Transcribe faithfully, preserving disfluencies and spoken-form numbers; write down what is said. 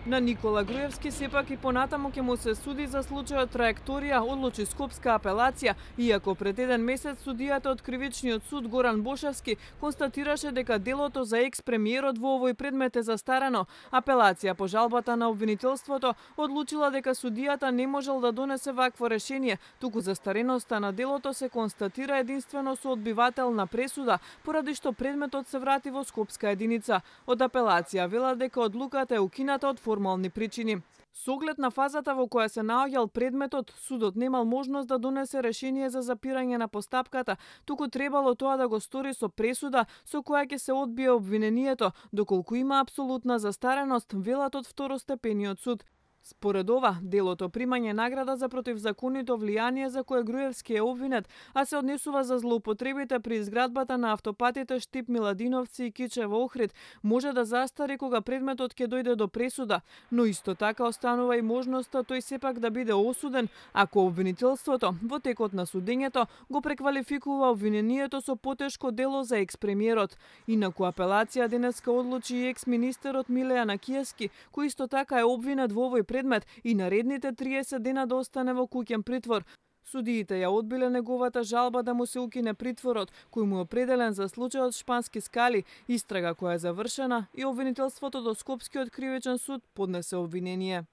На Никола Груевски сепак и понатаму ќе му се суди за случајот Траекторија, одлучи Скопска апелација, иако пред еден месец судијата од Кривичниот суд Горан Бошевски констатираше дека делото за екс-премиерот во овој предмет е застарено. Апелација по жалбата на обвинителството одлучила дека судијата не можел да донесе вакво решение, туку застареноста на делото се констатира единствено со одбивател на пресуда, поради што предметот се врати во Скопска единица. Од апелација велат дека одлуката е укината од формални причини. Со оглед на фазата во која се наоѓал предметот, судот немал можност да донесе решение за запирање на постапката, туку требало тоа да го стори со пресуда со која ќе се одбие обвинението, доколку има апсолутна застареност, велат од второстепениот суд. Според ова, делото примање награда за противзаконито влијание за кое Груевски е обвинет, а се однесува за злоупотребите при изградбата на автопатите Штип Миладиновци и Кичево Охрид, може да застари кога предметот ќе дојде до пресуда, но исто така останува и можноста тој сепак да биде осуден, ако обвинителството во текот на судењето го преквалификува обвинението со потешко дело за екс-премиерот. Инаку апелација денеска одлучи и екс-министерот Милеја Накиевски, кој исто така е обвинет во овој предмет и наредните триесет дена да остане во куќен притвор. Судиите ја одбиле неговата жалба да му се укине притворот, кој му е определен за случајот Шпански скали, истрага која е завршена и обвинителството до Скопскиот кривичен суд поднесе обвинение.